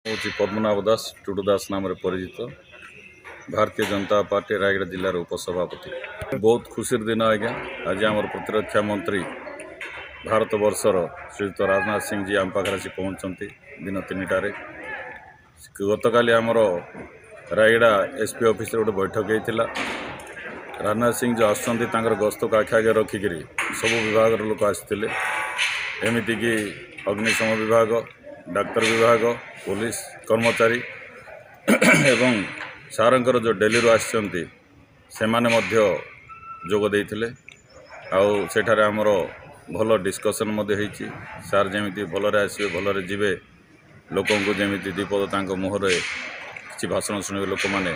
ହେଉଛି ପଦ୍ମନାଭ ଦାସ, ଟୁଡୁ ଦାସ ନାମରେ ପରିଚିତ, ଭାରତୀୟ ଜନତା ପାର୍ଟି ରାୟଗଡ଼ା ଜିଲ୍ଲାର ଉପସଭାପତି। ବହୁତ ଖୁସିର ଦିନ ଆଜ୍ଞା। ଆଜି ଆମର ପ୍ରତିରକ୍ଷା ମନ୍ତ୍ରୀ ଭାରତବର୍ଷର ଶ୍ରୀଯୁକ୍ତ ରାଜନାଥ ସିଂ ଜୀ ଆମ ପାଖରେ ଆସି ପହଞ୍ଚନ୍ତି ଦିନ 3ଟାରେ। ଗତକାଲି ଆମର ରାୟଗଡ଼ା ଏସ୍ ପି ଅଫିସରେ ଗୋଟେ ବୈଠକ ହେଇଥିଲା। ରାଜନାଥ ସିଂ ଯେଉଁ ଆସୁଛନ୍ତି, ତାଙ୍କର ଗସ୍ତକୁ ଆଖି ଆଗରେ ରଖିକିରି ସବୁ ବିଭାଗର ଲୋକ ଆସିଥିଲେ, ଏମିତିକି ଅଗ୍ନିଶମ ବିଭାଗ, ଡାକ୍ତର ବିଭାଗ, ପୋଲିସ କର୍ମଚାରୀ ଏବଂ ସାରଙ୍କର ଯେଉଁ ଡେଲିରୁ ଆସିଛନ୍ତି ସେମାନେ ମଧ୍ୟ ଯୋଗ ଦେଇଥିଲେ। ଆଉ ସେଠାରେ ଆମର ଭଲ ଡିସ୍କସନ୍ ମଧ୍ୟ ହେଇଛି। ସାର୍ ଯେମିତି ଭଲରେ ଆସିବେ, ଭଲରେ ଯିବେ, ଲୋକଙ୍କୁ ଯେମିତି 2 ପଦ ତାଙ୍କ ମୁହଁରେ କିଛି ଭାଷଣ ଶୁଣିବେ ଲୋକମାନେ,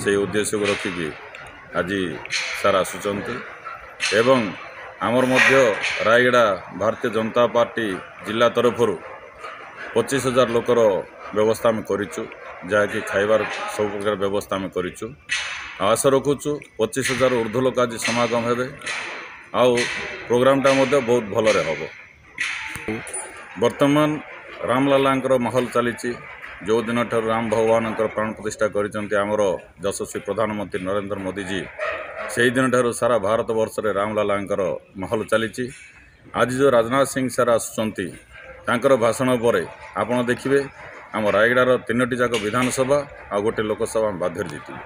ସେଇ ଉଦ୍ଦେଶ୍ୟକୁ ରଖିକି ଆଜି ସାର୍ ଆସୁଛନ୍ତି। ଏବଂ ଆମର ମଧ୍ୟ ରାୟଗଡ଼ା ଭାରତୀୟ ଜନତା ପାର୍ଟି ଜିଲ୍ଲା ତରଫରୁ 25,000 ଲୋକର ବ୍ୟବସ୍ଥା ଆମେ କରିଛୁ, ଯାହାକି ଖାଇବାର ସବୁ ପ୍ରକାର ବ୍ୟବସ୍ଥା ଆମେ କରିଛୁ। ଆଉ ଆଶା ରଖୁଛୁ 25,000 ଉର୍ଦ୍ଧ୍ୱ ଲୋକ ଆଜି ସମାଗମ ହେବେ ଆଉ ପ୍ରୋଗ୍ରାମଟା ମଧ୍ୟ ବହୁତ ଭଲରେ ହେବ। ବର୍ତ୍ତମାନ ରାମଲାଲାଙ୍କର ମାହୋଲ ଚାଲିଛି। ଯେଉଁ ଦିନଠାରୁ ରାମ ଭଗବାନଙ୍କର ପ୍ରାଣ ପ୍ରତିଷ୍ଠା କରିଛନ୍ତି ଆମର ଯଶସ୍ୱୀ ପ୍ରଧାନମନ୍ତ୍ରୀ ନରେନ୍ଦ୍ର ମୋଦିଜୀ, ସେହି ଦିନଠାରୁ ସାରା ଭାରତବର୍ଷରେ ରାମଲାଲାଙ୍କର ମାହୋଲ ଚାଲିଛି। ଆଜି ଯେଉଁ ରାଜନାଥ ସିଂ ସାର୍ ଆସୁଛନ୍ତି, ତାଙ୍କର ଭାଷଣ ପରେ ଆପଣ ଦେଖିବେ ଆମ ରାୟଗଡ଼ାର 3ଟି ଯାକ ବିଧାନସଭା ଆଉ ଗୋଟେ ଲୋକସଭା ଆମେ ବାଧ୍ୟରେ ଜିତିବୁ।